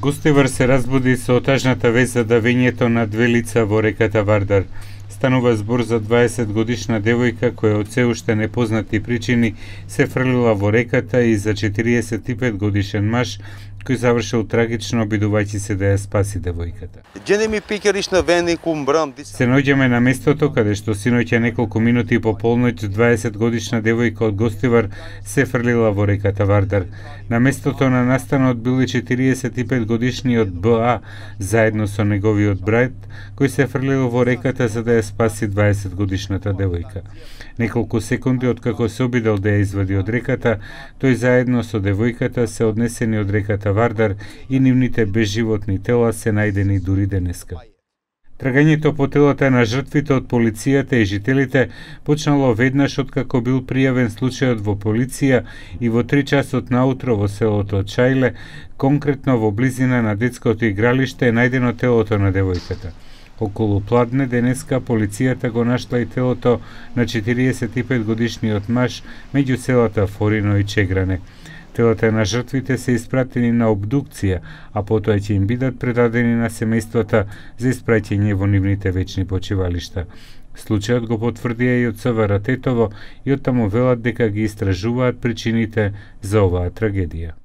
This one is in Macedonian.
Гостивар се разбуди со отажната вест за давењето на две лица во реката Вардар. Станува збор за 20-годишна девојка која од се уште непознати причини се фрлила во реката и за 45 годишен маж кој завршил трагично обидувајќи се да ја спаси девојката. Се наоѓаме на местото каде што синоќа неколку минути по полноќ 20-годишна девојка од Гостивар се фрлила во реката Вардар. На местото на настанот бил и 45 годишниот БА заедно со неговиот брат кој се фрлил во реката за да ја спаси 20-годишната девојка. Неколку секунди откако се обидел да ја извади од реката, тој заедно со девојката се однесени од реката Вардар и нивните безживотни тела се најдени дури денеска. Трагањето по телата на жртвите од полицијата и жителите почнало веднаш откако бил пријавен случајот во полиција и во 3 часот наутро во селото Чајле, конкретно во близина на детското игралиште е најдено телото на девојката. Околу пладне денеска полицијата го нашла и телото на 45 годишниот маж меѓу селата Форино и Чегране. Телата на жртвите се испратени на обдукција, а потоа ќе им бидат предадени на семејствата за испраќање во нивните вечни почивалишта. Случајот го потврдија и од ЦВР Тетово и оттаму велат дека ги истражуваат причините за оваа трагедија.